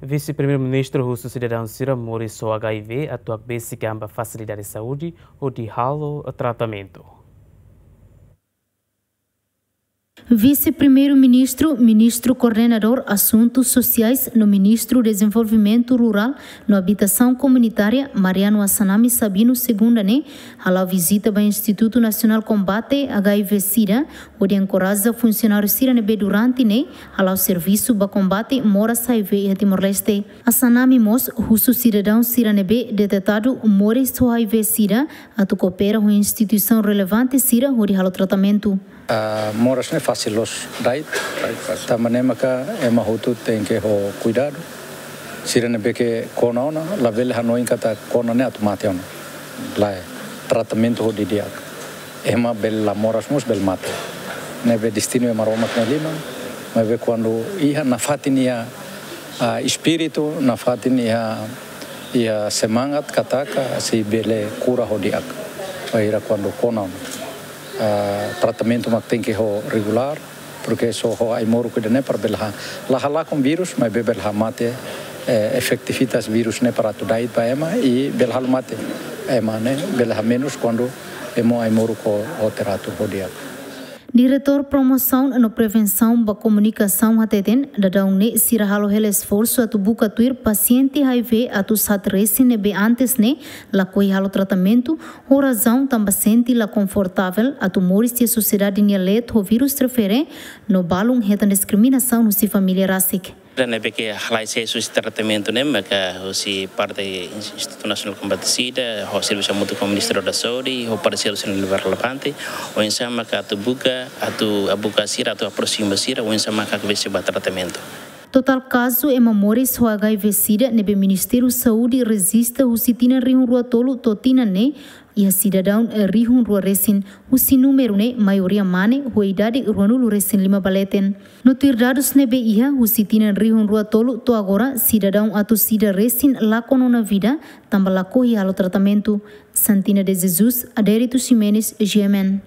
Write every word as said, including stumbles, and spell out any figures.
Vise-Primeiru-Ministru husu sidadaun sira moris ho H I V atu hakbesik an ba fasilidade saúde hodi halo tratamentu. Vise-Primeiru-Ministru, Ministru Koordenadór Asuntus Sosiais no Ministru Dezenvolvimentu Rurál no Abitasaun Komunitária, Mariano Assanami Sabino, segunda ne'e hala'o vizita ba Institutu Nasionál Kombate H I V SIDA, hodi enkoraja funsionáriu sira ne'ebé durante ne'e hala'o servisu ba kombate moras H I V iha Timor-Leste. Assanami mós husu sidadaun sira ne'ebé detetadu moris ho H I V SIDA atu koopera ho instituisaun relevante sira hodi halo tratamentu. Ah, moras ne'e fasil loos dait. Tanba ne'e maka ema hotu tenke ho kuidadu. Sira ne'ebé ke kona ona, labele hanoin katak kona ne'e atu mate ona. Lae, tratamentu ho di'ak. Ema bele la moras mós bele mate. Ne'ebé destinu ema Maromak nia liman, maibé kuandu iha nafatin iha, ah, espíritu, nafatin iha, iha semangat katak sei bele kura ho di'ak. Bainhira kuandu kona ona, ah, tratamentu mak tenke ho regulár, porke só ho ai-moruk ida-ne'e para bele ha-, la halakon vírus, maibé bele hamate, eh, efetivitas vírus ne'e para atu dait ba ema, i bele halo mate ema ne'e, bele hamenus kuandu ema ai-moruk ho, ho teratur ho di'ak. Diretór Promosaun no Prevensaun ba Komunikasaun hateten, daudaun ne'e sira halo hela esforsu atu buka tuir pasiente H I V atus haat resin ne'ebé antes ne'e lakohi halo tratamentu, ho razaun tanba sente la konfortavel atu moris iha sosiedade nia leet ho vírus refere, no balun hetan diskriminasaun husi família rasik. Sira ne'ebé ke halai sees husi tratamentu ne'e maka husi parte Ins-, Institutu Nasionál Kombate SIDA, ho servisu hamutuk ho Ministériu da Saúde, ho parseiru sira ne'ebé relevante, oinsá maka atu buka, atu buka sira, atu aproxima sira, oinsá maka hakbesik ba tratamentu. Totál kazu ema moris ho H I V SIDA ne'ebé Ministériu Saúde rejista husi tinan rihun rua tolu to'o tinan ne'e iha sidadaun rihun rua resin, husi númeru ne'e maioria mane ho idade ruanulu resin lima ba leten. No tuir dadus ne'ebé iha, husi tinan rihun rua tolu to'o agora sidadaun atus ida resin lakon ona vida tanba lakohi halo tratamentu. Santina de Jesus, Adérito Ximenes, G M N.